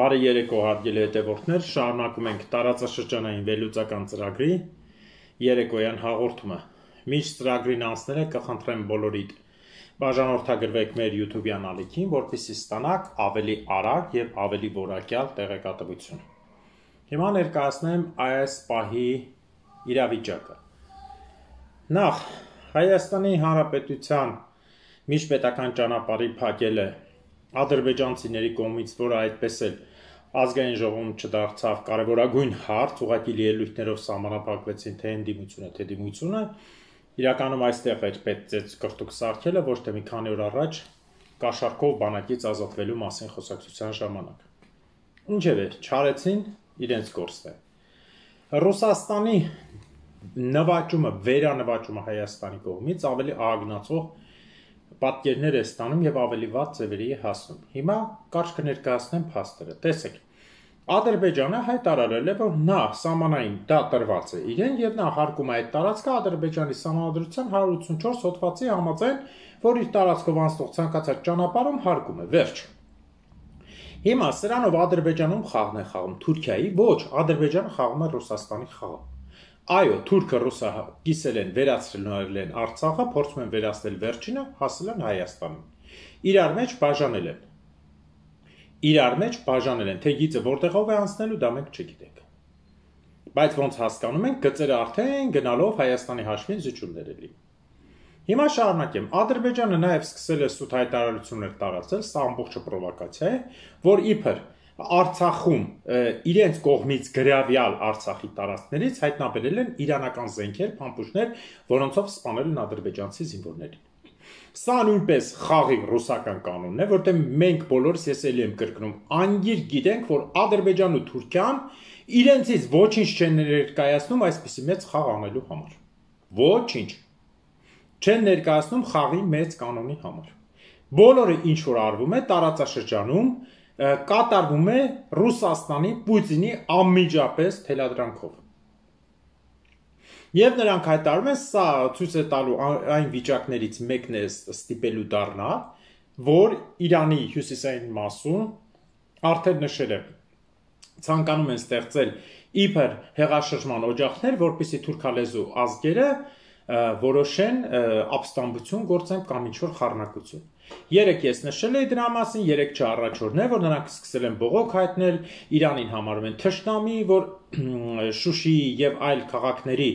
Բարի երեկո հարգելի հետևորդներ, շարունակում ենք տարածաշրջանային վերլուծական ծրագրի երեկոյան հաղորդումը։ Միշտ ծրագրին անցնելը կխնդրեմ բոլորիդ բաժանորդագրվեք մեր YouTube-յան ալիքին, որպեսզի ստանաք ավելի արագ եւ ավելի որակյալ տեղեկատվություն։ Հիմա ներկայացնեմ այս պահի իրավիճակը։ Նախ Հայաստանի Հանրապետության միջպետական ճանապարհի փակելը ադրբեջանցիների կողմից, որը այդպես էլ ազգային ժողովում չդարձավ կարևորագույն հարց, ուղղակի ելույթներով սահմանափակվեցին թե ընդդիմությունը, թե դիմությունը, իրականում այստեղ էր պետք կրտուկ սարքելը, ոչ թե մի քանի օր առաջ կաշառքով բանակից ազատվելու մասին խոսակցության ժամանակ։ Ինչևէ, չարեցին իրենց գործը։ Ռուսաստանի նվաճումը, վերանվաճումը Հայաստանի կողմից ավելի ահագնացող պատկերներ է ստանում եւ ավելի վատ ձևերի է հասնում։ Հիմա կարճ կներկայացնեմ փաստերը։ Տեսեք, Ադրբեջանը հայտարարել է, որ նա սահմանային դա տրված է իրեն եւ նա հարկում է այդ տարածքը Ադրբեջանի սահմանադրության 184 հոդվածի համաձայն, որ իր տարածքով անցնող ցանկացած ճանապարհում հարկում է։ Վերջ։ Հիմա սրանով Ադրբեջանում խաղն է խաղում Թուրքիայի, ոչ, Ադրբեջանը խաղում է Ռուսաստանի խաղը։ Այո, թուրքը ռուսը կիսել են, վերացրել են Արցախը, փորձում են վերացնել վերջինը, հասել են Հայաստանին։ Իրար մեջ բաժանել են, թե գիծը որտեղով է անցնելու, դա մենք չգիտենք։ Բայց ոնց հասկանում ենք, գծերը արդեն գնալով Հայաստանի հաշվին զիջումներ է լինում։ Հիմա շարունակեմ, Ադրբեջանը նաև սկսել է սուտ հայտարարություններ տարածել, սա ամբողջը պրովոկացիա է, որ իբր Արցախում իրենց կողմից գրավյալ Արցախի տարածքներից հայտնաբերել են իրանական զենքեր, փամփուշտներ, որոնցով սպանել են ադրբեջանցի զինվորներին։ Սա նույնպես խաղի ռուսական կանոնն է, որտեղ մենք բոլորս, ես էլի եմ կրկնում, անգիր գիտենք, որ Ադրբեջանն ու Թուրքիան իրենցից ոչինչ չեն ներկայացնում այսպիսի մեծ խաղ անելու համար։ Ոչինչ չեն ներկայացնում խաղի մեծ կանոնի համար։ Բոլորը ինչ որ արվում է տարածաշրջանում կատարվում է Ռուսաստանի Պուտինի անմիջապես թելադրանքով։ Եվ նրանք հայտարարում են, սա ցույց է տալու այն վիճակներից մեկն է ստիպելու դառնա, որ Իրանի հյուսիսային մասում արդեն նշել է ցանկանում են ստեղծել իբր հեղաշրջման օջախներ, որպեսզի թուրքալեզու ազգերը որոշեն ապստամբություն գործեն կամ ինչ-որ խառնակություն։ Երեք ես նշել էի դրա մասին, երեք չառաջորդն է, որ նրանք սկսել են բողոք հայտնել, Իրանին համարում են թշնամի, որ Շուշիի եւ այլ քաղաքների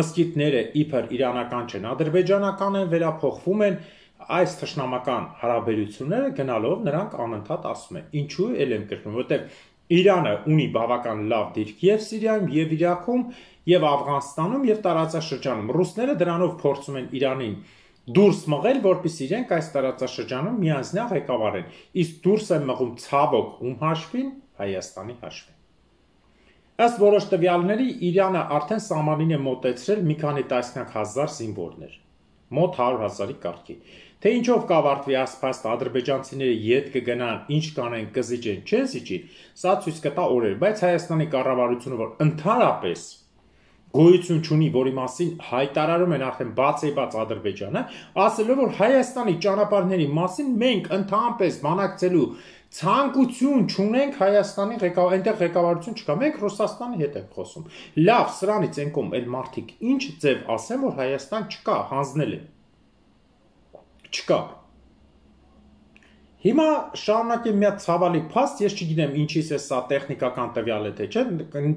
մզկիթները իբր իրանական չեն, ադրբեջանական են, վերափոխվում են, այս թշնամական հարաբերությունները գնալով նրանք անընդհատ ասում են, ինչու էլ եմ կրկնում, որտեղ Իրանը ունի բավական լավ դիրք եւ Սիրիայում, եւ Իրաքում, եւ Աֆղանստանում, եւ տարածաշրջանում։ Ռուսները դրանով փորձում են Իրանին դուրս մղել, որպեսզի իրենք այս տարածաշրջանում միանձնյա ղեկավարեն։ Իսկ դուրս են մղում ցավոք ում հաշվին, Հայաստանի հաշվին։ Ըստ որոշ տվյալների Իրանը արդեն սահմանին է մոտեցրել մի քանի տասնյակ հազար զինվորներ, մոտ 100,000-ի կարգի։ Թե ինչով կավարտվի ասփաստ ադրբեջանցիները ետ կգնան, ինչ կանեն, կզիջեն, չեն զիջի, սա ցույց կտա օրեր, բայց Հայաստանի կառավարությունը, որ ընդհանրապես գոյություն չունի, որի մասին հայտարարում են արդեն բացեբաց Ադրբեջանը, ասելով, որ Հայաստանի ճանապարհների մասին մենք ընդհանրապես բանակցելու ցանկություն չունենք Հայաստանի այնտեղ ղեկավարություն չկա, մենք Ռուսաստանի հետ ենք խոսում։ Լավ, սրանից են կողմ էլ մարդիկ ինչ ձև ասեն, որ Հայաստան չկա, հանձնել են։ Չկա։ Հիմա շարունակեմ մի հատ ցավալի փաստ, ես չգիտեմ ինչից է սա տեխնիկական տվյալ է թե չէ,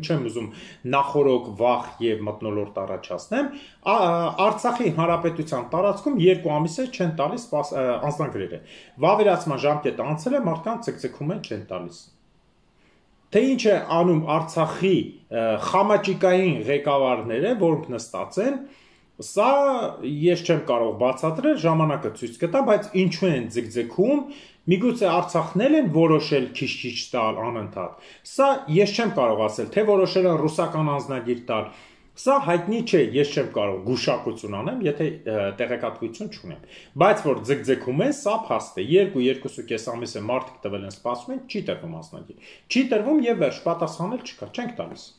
չեմ ուզում նախորոք վախ եւ մթնոլորտ առաջացնեմ, Արցախի հանրապետության տարածքում 2 ամիս է չեն տալիս անձնագրերը։ Վավերացման ժամկետը անցել է, մարդկանց ցկցկում են չեն տալիս։ Թե ինչ է անում Արցախի խամաճիկային ղեկավարները, որոնք նստած են, սա ես չեմ կարող բացատրել, ժամանակը ցույց կտա, բայց ինչու են ձգձգում, միգուցե Արցախն են որոշել քիչ-քիչ տալ անընդհատ։ Սա ես չեմ կարող ասել, թե որոշել են ռուսական անձնագիր տալ։ Սա հայտնի չէ, ես չեմ կարող գուշակություն անեմ, եթե տեղեկատվություն չունեմ։ Բայց որ ձգձգում են, սա փաստ է։ 2-2.5 ամիս է մարդիկ տվել են, սպասում են, չի տրվում անձնագիր։ Չի տրվում եւ վերջ, պատասխանել չկա, չենք տալիս։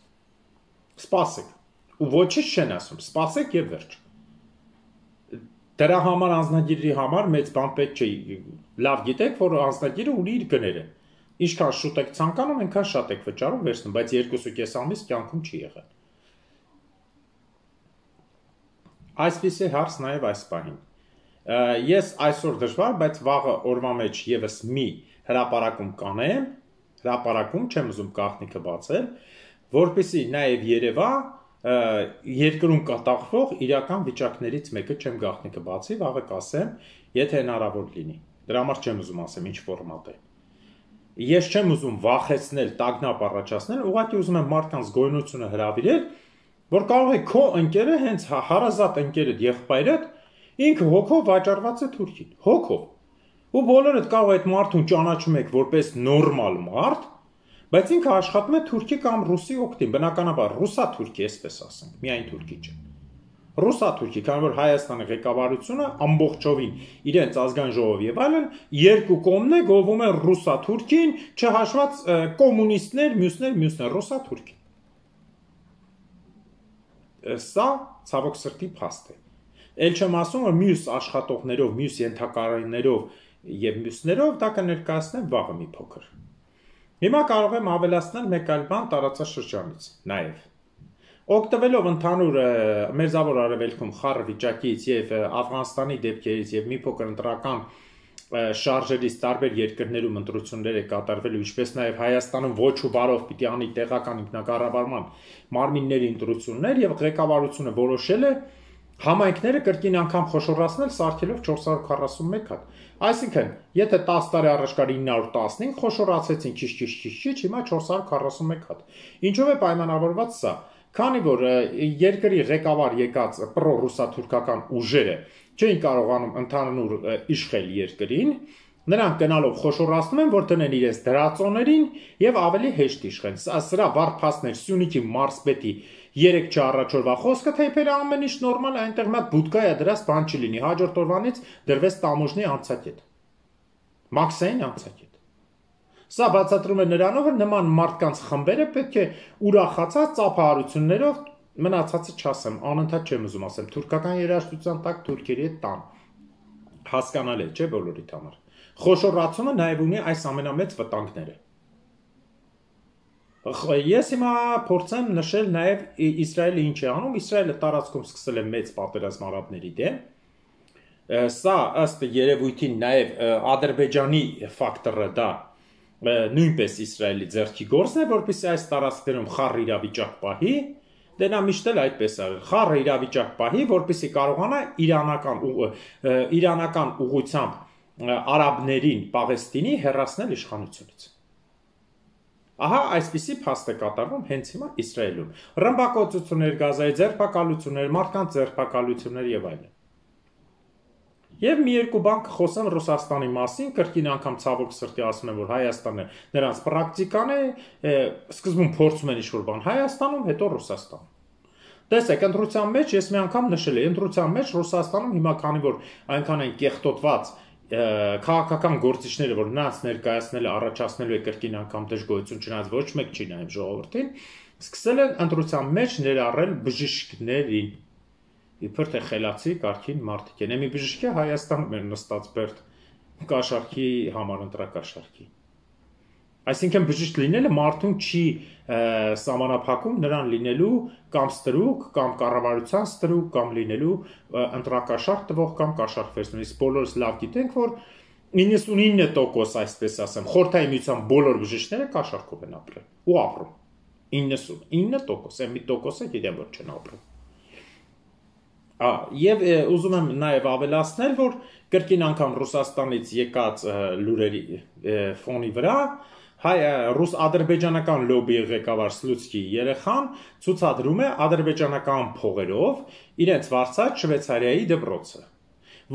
Սպասեք։ Ու ոչինչ չեն ասում, սպասեք եւ վերջ։ Դրա համար անձնագիրի համար մեծ բան պետք չէ։ Լավ գիտեք, որ անձնագիրը ունի իր գները։ Ինչքան շուտ եք ցանկանում, այնքան շատ եք վճարում վերցնում, բայց 2.5 ամիս կյանքում չի եղել։ Այսպիսի հարց նաև այս պահին։ Ես այսօր դժվար, բայց վաղը օրվա մեջ եւս մի հրապարակում կանեմ, հրապարակում չեմ ուզում գաղտնիքը բացել, որպեսզի նաև Երևա երկրում կատաղվող իրական վիճակներից մեկը չեմ գաղտնիքը բացի, վաղը կասեմ, եթե հնարավոր լինի։ Դրա համար չեմ ուզում ասեմ ինչ ֆորմատ է։ Ես չեմ ուզում վախեցնել, տագնապ առաջացնել, ուղղակի ուզում եմ մարդկանց գոյնությունը հրավիրել, որ կարող է քո ընկերը հենց հարազատ ընկերդ, եղբայրդ ինքը հոգով վաճառված է Թուրքին, հոգով։ Ու բոլորդ կարող է այդ մարդուն ճանաչում եք որպես նորմալ մարդ, բայց ինքը աշխատում է թուրքի կամ ռուսի օգտին, բնականաբար ռուսա-թուրքի, այսպես ասենք, միայն թուրքի չէ։ Ռուսա-թուրքի, քանի որ Հայաստանի ղեկավարությունը ամբողջովին իրենց ազգային ժողովի եւ այլն երկու կողմն է գովում են ռուսա-թուրքին, չհաշված կոմունիստներ, մյուսներ ռուսա-թուրքին։ Սա ցավոք սրտի փաստ է։ Էլ չեմ ասում, որ մյուս աշխատողներով, մյուս ենթակառույցներով եւ մյուսներով դա կներկայացնեմ վաղը մի փոքր։ Հիմա կարող եմ ավելացնել մեկ այլ բան տարածաշրջանից նաև։ Օգտվելով ընդհանուր մերձավոր արևելքում խառը վիճակից եւ Աֆղանստանի դեպքերից եւ մի փոքր ընտրական շարժերից տարբեր երկրներում ընտրություններ է կատարվել, ինչպես նաև Հայաստանում ոչ ու բարով պիտի անի տեղական ինքնակառավարման մարմինների ընտրություններ եւ ղեկավարությունը որոշել է համայնքները կրկին անգամ խոշորացնել սարքելով 441 հատ։ Այսինքն, եթե 10 տարի առաջ կար 915, խոշորացեցին քիչ, հիմա 441 հատ։ Ինչով է պայմանավորված սա։ Քանի որ երկրի ղեկավար եկած պրո-ռուսա-թուրքական ուժերը չէին կարողանում ընդհանուր իշխել երկրին, նրանք գնալով խոշորացնում են, որ տնեն իրենց դրածոներին եւ ավելի հեշտ իշխեն։ Սրա վարփաստներ Սյունիքի մարզպետի 3 չառաջորվա խոսքը թեփերը ամեն ինչ նորմալ է, այնտեղ մատ բուդկա է դրած, բան չի լինի։ Հաջորդ օրվանից դրվեց տամոժնի անցակետ։ Մաքսային անցակետ։ Սա բացատրում է նրանով, որ նման մարդկանց խմբերը պետք է ուրախացած ծափահարություններով մնացածը չասեմ, անընդհատ չեմ ուզում ասեմ, թուրքական երաժշտության տակ թուրքերի հետ տան։ Հասկանալի է, չէ՞ բոլորիդ համար։ Խոշորացումը նաև ունի այս ամենամեծ վտանգները։ Ես հիմա փորձեմ նշել նաև Իսրայելը ինչ է անում։ Իսրայելը տարածքում սկսել է մեծ պատերազմ արաբների դեմ։ Սա ըստ երևույթին նաև Ադրբեջանի ֆակտորը դա նույնպես Իսրայելի ձեռքի գործն է, որպեսզի այս տարածքներում խառը իրավիճակ պահի, դե նա միշտ էլ այդպես արել, խառը իրավիճակ պահի, որպեսզի կարողանա իրանական ուղղությամբ արաբներին Պաղեստինի հեռացնել իշխանությունից։ Ահա այսպիսի փաստ է կատարվում հենց հիմա Իսրայելում։ Ռմբակոծություններ, Գազայի ձերբակալություններ, մարդկանց ձերբակալություններ եւ այլն։ Եվ մի երկու բան կխոսեմ Ռուսաստանի մասին, կրկին անգամ ցավոք սրտի ասում եմ, որ Հայաստանը նրանց պրակտիկան է, սկզբում փորձում են ինչ-որ բան Հայաստանում, հետո Ռուսաստանում։ Տեսեք, ընտրության մեջ ես մի անգամ նշել եմ, ընտրության մեջ Ռուսաստանում հիմա քանի որ այնքան են կեղտոտված քաղաքական գործիչները, որ նրանց ներկայացնելը առաջացնելու է կրկին անգամ դժգոհություն, չնայած ոչ մեկ չի նայում ժողովրդին, սկսել են ընտրության մեջ ներառել բժիշկներին։ Իբր թե խելացի կարգին մարդիկ են։ Մի բժիշկ է Հայաստանում էր նստած Բերդ կաշառքի համար ընտրակաշառքի։ Այսինքն բժիշկ լինելը մարդուն չի սահմանափակում նրան լինելու կամ ստրուկ, կամ կառավարության ստրուկ, կամ լինելու ընտրակաշառք տվող կամ կաշառքվերցնող։ Իսկ բոլորս լավ գիտենք, որ 99% այսպես ասեմ, Խորհրդային Միության բոլոր բժիշկները կաշառքով են ապրել ու ապրում։ 99%, այն մի տոկոսը գիտեմ, որ չեն ապրում։ Եվ ուզում եմ նաև ավելացնել, որ կրկին անգամ Ռուսաստանից եկած լուրերի ֆոնի վրա ռուս-ադրբեջանական լոբիի ղեկավար Սլուցկի երեխան ցուցադրում է ադրբեջանական փողերով իրենց վարձած Շվեյցարիայի դպրոցը,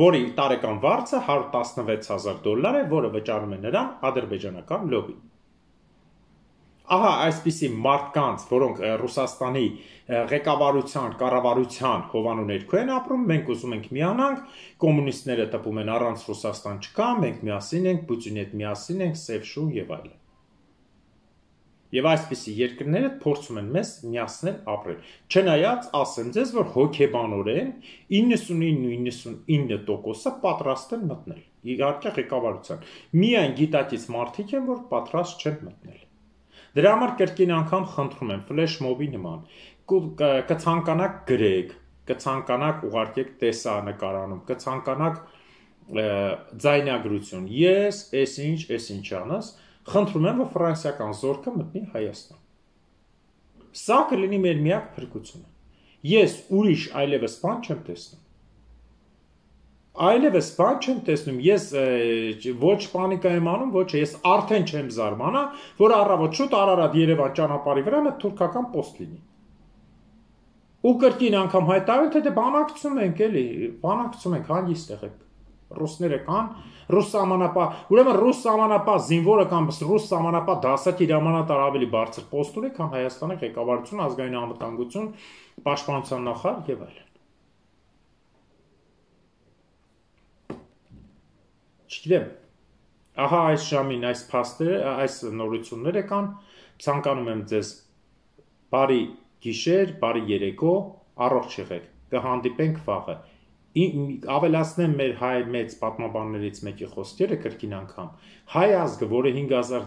որի տարեկան վարձը $116,000 է, որը վճարում է նրան ադրբեջանական լոբին։ Ահա այսպիսի մարդկանց, որոնք Ռուսաստանի ղեկավարության, կառավարության հովանու ներքո են ապրում, մենք ուզում ենք միանանք, կոմունիստները տպում են առանց Ռուսաստան չկա, մենք միասին ենք, Պուտինի հետ միասին ենք, սև շուն եւ այլն։ Եւ այսպիսի երկրները փորձում են մեզ միացնել ապրել։ Չնայած ասեմ ձեզ, որ հոգեբանորեն 99.99%-ը պատրաստ են մտնել։ իհարկե ղեկավարության։ Միայն գիտակից մարդիկ են, որ պատրաստ չեն մտնել։ Դրա համար կրկին անգամ խնդրում եմ ֆլեշ մոբի նման կցանկանաք գրեք, կցանկանաք ուղարկեք տեսանկարանում, կցանկանաք ձայնագրություն։ Ես այսինչ անես, խնդրում եմ, որ ֆրանսիական զորքը մտնի Հայաստան։ Սա կլինի մեր միակ փրկությունը։ Ես ուրիշ այլևս բան չեմ տեսնում։ Այլևս բան չեմ տեսնում, ես ոչ պանիկա եմ անում, ոչ ես արդեն չեմ զարմանա, որ առավոտ շուտ Արարատ-Երևան ճանապարհի վրա մի թուրքական պոստ լինի։ Ու կրկին անգամ հայտարարել, թե դե բանակցում ենք, էլի, բանակցում ենք, հանգիստ եղեք։ Ռուսները կան, ռուս սահմանապահ, ուրեմն ռուս սահմանապահ զինվորը կամ ռուս սահմանապահ դասակիր հրամանատար ավելի բարձր պոստ ունի, քան Հայաստանի ղեկավարություն, ազգային անվտանգություն, պաշտպանության նախարար եւ այլն։ Չգիտեմ, ահա այս ժամին այս փաստերը, այս նորությունները կան, ցանկանում եմ ձեզ բարի գիշեր, բարի երեկո, առողջ եղեք, կհանդիպենք վաղը։ Ավելացնեմ մեր հայ մեծ պատմաբաններից մեկի խոսքերը կրկին անգամ, հայ ազգը, որը 5000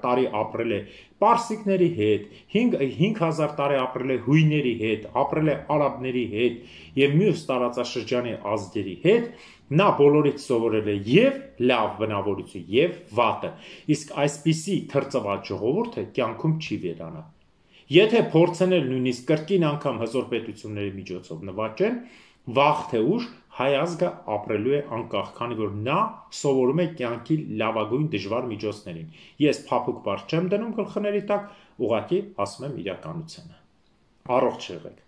տարի ապրել է պարսիկների հետ, 5000 տարի ապրել է հույների հետ, ապրել է արաբների հետ եւ մյուս տարածաշրջանի ազգերի հետ, նա բոլորից սովորել է եւ լավ բնավորություն եւ վատը, իսկ այսպիսի թրծված ժողովուրդը կյանքում չի վերանա։ Եթե փորձենել նույնիսկ կրկին անգամ հզոր պետությունների միջոցով նվաճեն, վաղ թե ուշ հայ ազգը ապրելու է անկախ, քանի որ նա սովորում է կյանքի լավագույն դժվար միջոցներին։ Ես փափուկ բառ չեմ դնում գլխների տակ, ուղղակի ասում եմ իրականությունը։ Առողջ եղեք։